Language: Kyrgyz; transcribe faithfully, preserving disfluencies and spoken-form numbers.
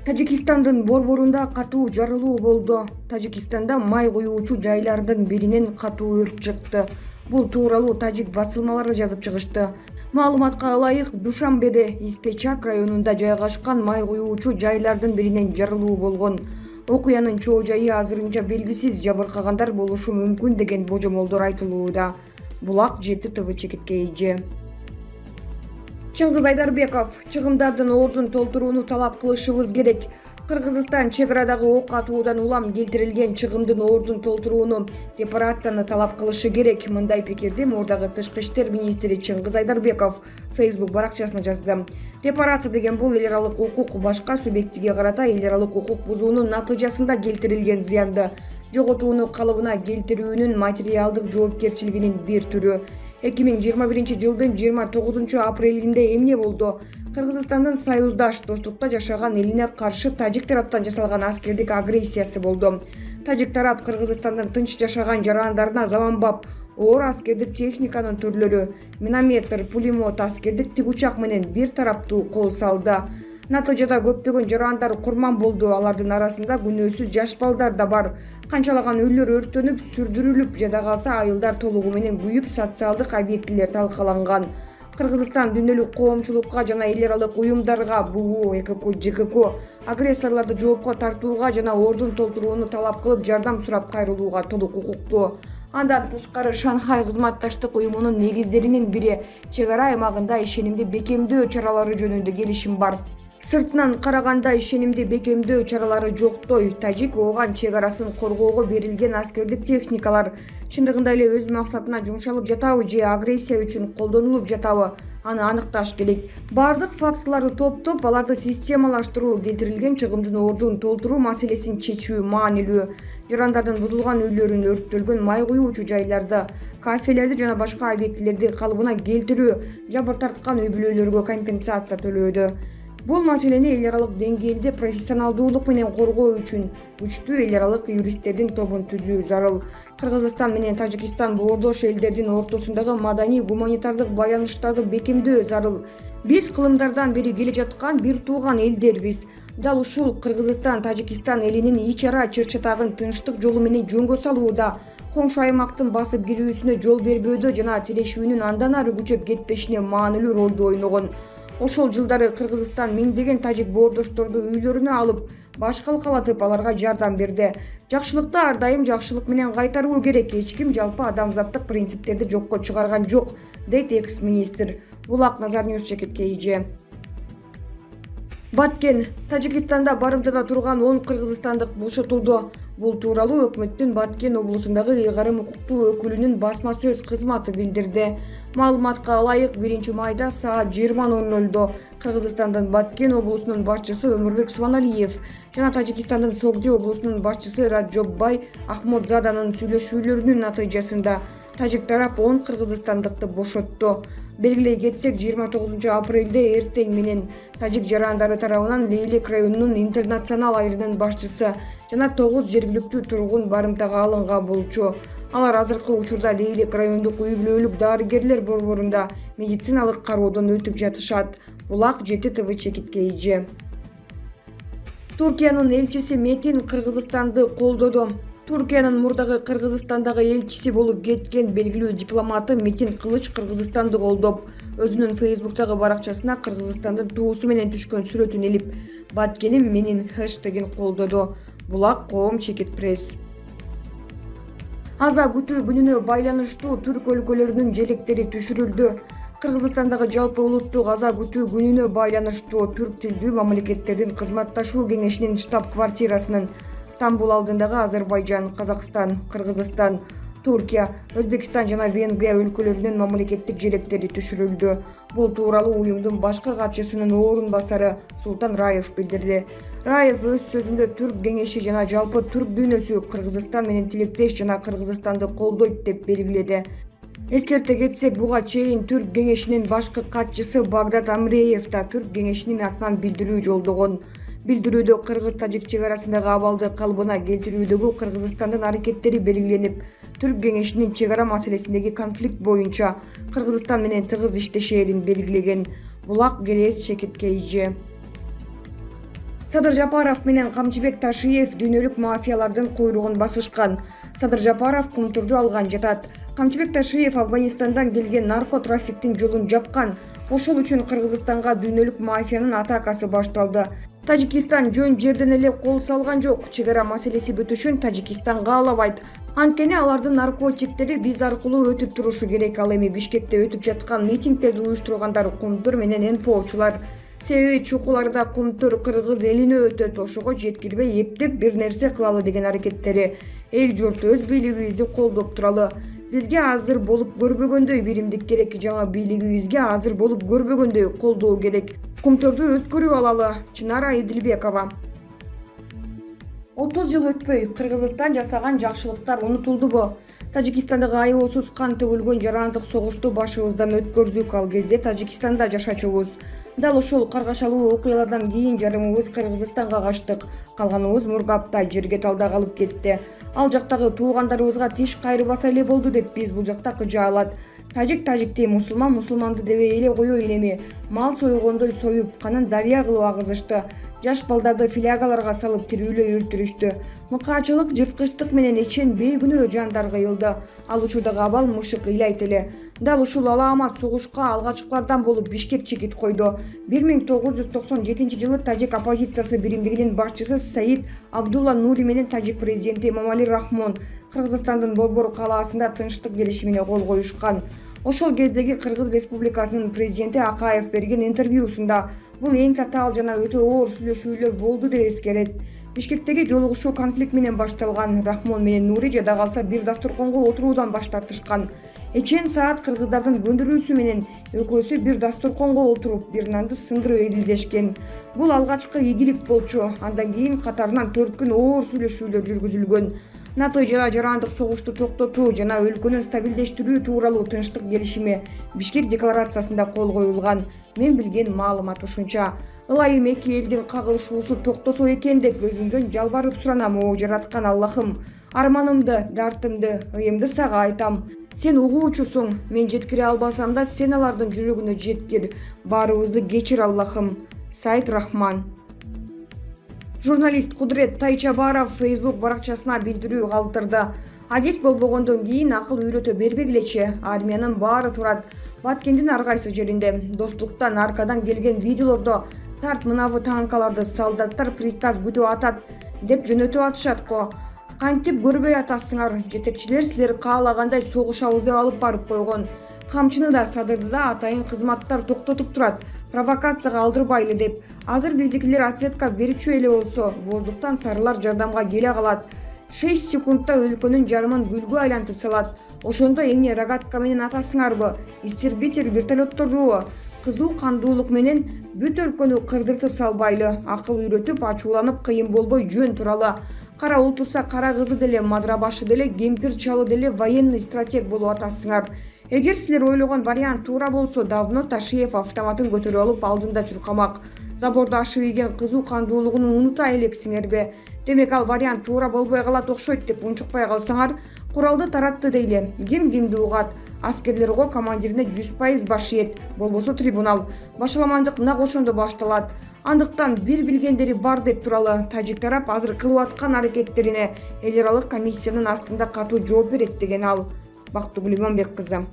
Тажикстандын борборунда катуу жарылуу болду. Тажикстанда май куюучу жайлардын биринен катуу өрт чыкты. Бул тууралуу тажик басылмалары жазып чыгышты. Маалыматка ылайык, Душанбеде Испечак районунда жайгашкан май куюучу жайлардын биринен жарылуу болгон. Окуянын чоо жайы азырынча белгисиз, жабыркагандар болушу мүмкүн деген божомолдор айтылууда. Булак жети тэ вэ чекитке эже. Чыңгыз Айдарбеков: чыгымдардын ордун толтурууну талап кылышыбыз керек. Кыргызстан чек арадагы ок атуудан улам келтирилген чыгымдын ордун толтурууну, репарацияны талап кылышы керек. Мындай пикирди Мурдагы тышкы иштер министри Чыңгыз Айдарбеков Facebook баракчасына жазды. Репарация деген бул эл аралык укук башка субъектиге карата эл аралык укук бузуунун натыйжасында келтирилген зыянды жоготууну калыбына келтирүүнүн материалдык жоопкерчилигинин бир түрү. эки миң жыйырма биринчи жылдын жыйырма тогузунчу апрелинде эмне болду? Кыргызстандын союздаш достукта жашаган элине каршы тажик тараптан жасалган аскердик агрессиясы болду. Тажик тарап Кыргызстандын тынч жашаган жарандарына заманбап оор аскердик техниканын түрлөрү, минометр, пулемет, аскердик тигучак менен бир тараптуу кол салды. Натыйжада көптөгөн жарандар курман болду. Алардын арасында күнөөсүз жаш балдар да бар. Канчалаган үйлөр өрттөнүп, сүрдүрүлүп, жада калса айылдар толугу менен күйүп, социалдык объектилер талкаланган. Кыргызстан дүйнөлүк коомчулукка жана эл аралык уюмдарга БУ, Э К К, Ж К К агрессорлорду жоопко тартууга жана ордун толтурууну талап кылып, жардам сурап кайрылууга толук укуктуу. Андан тышкары Шанхай кызматташтык уюмунун негиздеринин бири чек ара аймагында ишенимди бекемдөө чаралары жөнүндө келишим бар. Сыртынан караганда ишенимди бекемдөө чаралары жоктой. Тажик ооган чек арасын коргоого берилген аскердик техникалар чындыгында эле өз максатына жумшалып жатабы же агрессия үчүн колдонулуп жатабы? Аны аныкташ керек. Бардык фактыларды топтоп, аларды системалаштыруу, келтирилген чыгымдын ордун толтуруу маселесин чечүү маанилүү. Жарандардын бузулган үйлөрүн, өрттөлгөн май куюучу жайларды, кафелерди жана башка объектилерди калыбына келтирүү, жабыр тарткан үй бүлөлөргө компенсация төлөөдө. Бул маселени эл аралык деңгээлде профессионалдуулук менен коргоо үчүн күчтүү эл аралык юристтердин тобун түзүү зарыл. Кыргызстан менен Тажикстан боордош элдердин ортосундагы маданий гуманитардык байланыштарды бекемдөө зарыл. Биз кылымдардан бери келе жаткан бир тууган элдербиз. Дал ушул Кыргызстан Тажикстан элинин ич ара чыр-чатагын тынчтык жолу менен жөнгө салууда, коңшу аймактын басып кирүүсүнө жол бербөөдө жана тирешүүнүн андан ары күчөп кетпешине маанилүү ролду ойногон. Ошол жылдары Кыргызстан миңдеген тажик боордошторду үйлөрүнө алып, башкалкалатып, аларга жардам берди. Жакшылыкты ар дайым жакшылык менен кайтаруу керек. Эч ким жалпы адамзаттык принциптерди жокко чыгарган жок, дейт экс-министр. Булак Назарньюс чекитке эже. Баткен: Тажикстанда барымтада турган он кыргызстандык бошотулду. Бул тууралуу өкмөттүн Баткен облусундагы ыйгарым укуктуу өкүлүнүн басма сөз кызматы билдирди. Маалыматка ылайык, биринчи майда саат жыйырма ноль нольдо Кыргызстандын Баткен облусунун башчысы Өмүрбек Субаналиев жана Тажикстандын Согди облусунун башчысы Раджоббай Ахмодзаданын сүйлөшүүлөрүнүн натыйжасында тажик тарап он кыргызстандыкты бошотту. Белгилей кетсек, жыйырма тогузунчу апрелде эртең менен тажик жарандары тарабынан Лейлек районунун интернационал айрынын башчысы жана тогуз жергиликтүү тургун барымтага алынган болчу. Алар азыркы учурда Лейлек райондук үй бүлөлүк дарыгерлер борборунда медициналык кароодон өтүп жатышат. Булак жети тэ вэ чекитке эже. Туркиянын элчиси Метин Кыргызстанды колдоду. Туркиянын мурдагы Кыргызстандагы элчиси болуп кеткен белгилүү дипломаты Метин Кылыч Кыргызстанды колдоп, өзүнүн Facebook'тагы баракчасына Кыргызстандын туусу менен түшкөн сүрөтүн илип, Баткеним менин хэштегин колдоду. Булак коом чекит пресс. Аза күтүү күнүнө байланыштуу түрк өлкөлөрүнүн желектери түшүрүлдү. Кыргызстандагы жалпы улуттук аза күтүү күнүнө байланыштуу түрк тилдүү мамлекеттердин кызматташуу кеңешинин штаб-квартирасынын Стамбул алдындагы Азербайжан, Казакстан, Кыргызстан, Туркия, Өзбекстан жана Венгрия өлкөлөрүнүн мамлекеттик желектери түшүрүлдү. Бул тууралуу уюмдун башкы катчысынын орун басары Султан Раев билдирди. Раев өз сөзүндө түрк кеңеши жана жалпы түрк дүйнөсү Кыргызстан менен тилектеш жана Кыргызстанды колдойт деп белгиледи. Эскерте кетсек, буга чейин түрк кеңешинин башкы катчысы Багдат Амреев да түрк кеңешинин атынан билдирүү жолдогон. Билдирүүдө кыргыз-тажик чек арасындагы абалды калыбына келтирүүдөгү Кыргызстандын аракеттери белгиленип, Түрк кеңешинин чек ара маселесиндеги конфликт боюнча Кыргызстан менен тыгыз иштешээрин белгилеген. Булак Келес Чекиткейжи. Садыр Жапаров менен Камчыбек Ташиев дүйнөлүк мафиялардын куйругун басышкан. Садыр Жапаров Кумтурду алган жатат. Камчыбек Ташиев Афганистандан келген наркотрафиктин жолун жапкан. Ошол үчүн Кыргызстанга дүйнөлүк мафиянын атакасы башталды. Тажикистан жөн жерден эле кол салган жок. Чек ара маселеси бүтүшүн Тажикистан каалабайт. Анткени алардын наркотиктери биз аркылуу өтүп турушу керек. Ал эми Бишкекте өтүп жаткан митингдерди уюштургандар Кумтур менен эн пэ очулар. Себеби чукуларда Кумтур кыргыз элине өтөт, ошого жеткирбей эптеп бир нерсе кылалы деген аракеттери. Эл журт өз бийлигибизди колдоп туралы. Бизге азыр болуп көрбөгөндөй биримдик керек, жаңа бийлигибизге азыр болуп көрбөгөндөй колдоо керек. Кумтурду өткөрүп алалы. Чынара Идилбекова. отуз жыл өтпөй Кыргызстан жасаган жакшылыктар унутулдубу? Тажикстандагы аеосуз кан төгүлгөн жарандык согушту башыбыздан өткөрдүк. Ал кезде Тажикстанда жашачубуз. Дал ошол каргашалуу окуялардан кийин жарымыбыз Кыргызстанга качтык. Калганыбыз Мургапта жерге талда калып кетти. Ал жактагы туугандарыбызга тиш кайрыбаса эле болду деп биз бул жакта кыжаалат. Тажик тажикти, мусулман мусулманды дебей эле коёйн эми. Мал сойгондой союп, канын дарыя кылып агызышты. Жаш балдарды флягаларга салып тирүүлөй өлтүрүштү. Мыкаачылык, жырткычтык менен ичен бейгүнөө жандар кыйылды. Ал учурдагы абал мышык ыйлайт эле. Дал ушул алаамат согушка алгачкылардан болуп Бишкек чекит койду. бир миң тогуз жүз токсон жетинчи жылы тажик оппозициясы биримдигинин башчысы Саид Абдулла Нури менен тажик президенти Эмомали Рахмон Кыргызстандын Борбор калаасында тынчтык келишимине кол коюшкан. Ошол кездеги Кыргыз Республикасынын президенти Акаев берген интервьюсунда бул эң татаал жана өтө оор сүйлөшүүлөр болду деп эскерет. Бишкектеги жолугушуу конфликт менен башталган. Рахмон менен Нури жада калса бир дасторконго отуруудан баш тартышкан. Эчен саат кыргыздардын көндүрүүсү менен экөөсү бир дасторконго отуруп, бир нанды сындырып эдилдешкен. Бул алгачкы ийгилик болчу. Андан кийин катарынан төрт күн оор сүйлөшүүлөр жүргүзүлгөн. Натыйжада жарандык согушту токтотуу жана өлкөнү стабилдештирүү тууралуу тынчтык келишими Бишкек декларациясында кол коюлган. Мен билген маалымат ушунча. Ылайым эки элдин кагылышуусу токтосо экен деп өзүмдөн жалбарып суранам. О жараткан Аллахым, арманымды, дартымды, ыйымды сага айтам. Сен угуучусуң. Мен жеткире албасам да сен алардын жүрөгүнө жеткир. Баарыбызды кечир Аллахым. Сайт Рахман. Журналист Кудрет Тайчабаров Facebook баракчасына билдирүү калтырды. Адис болбогондон кийин акыл үйрөтө бербегилечи. Армиянын баары турат. Баткендин ар кайсы жеринде. Достуктан аркадан келген видеолордо тарт мынабы танкаларды солдаттар приказ күтүп атат деп жөнөтүп атышат го. Кантип көрбөй атасыңар? Жетекчилер силер каалагандай согушабыз деп алып барып койгон. Камчыны да Садырды да атайын кызматтар токтотуп турат. Провокацияга алдырбайлы деп. Азыр биздикилер ответка берүүчү эле болсо, воздуктан сарылар жардамга келе калат. шесть секундта өлкөнүн жарымын гүлгө айлантып салат. Ошондо эмне рогатка менен атасыңарбы? Истербитель вертолеттордубу? Кызуу кандуулук менен бүт өлкөнү кырдыртып салбайлы. Акыл үйрөтүп, ачууланып кыйын болбой жөн туралы. Кара уул турса кара кызы деле, мадыра башы деле, кемпир чалы деле военный стратег болуп атасыңар. Эгер силер ойлогон вариант туура болсо, давно Ташиев автоматын көтөрүп алып алдында чуркамак. Заборду ашып ийген кызуу кандуулугун унута элексиңерби? Демек ал вариант туура болбой калат окшойт деп унчукпай калсаңар, куралды таратты дейли. Ким кимди угат? Аскерлер го командирине жүз пайыз баш ийет. Болбосо трибунал. Башаламандык мына ошондо башталат. Андыктан бир билгендери бар деп туралы. Тажик тарап азыр кылып аткан аракеттерине эл аралык комиссиянын астында катуу жооп берет деген ал. Бактыгүл Иманбек кызы.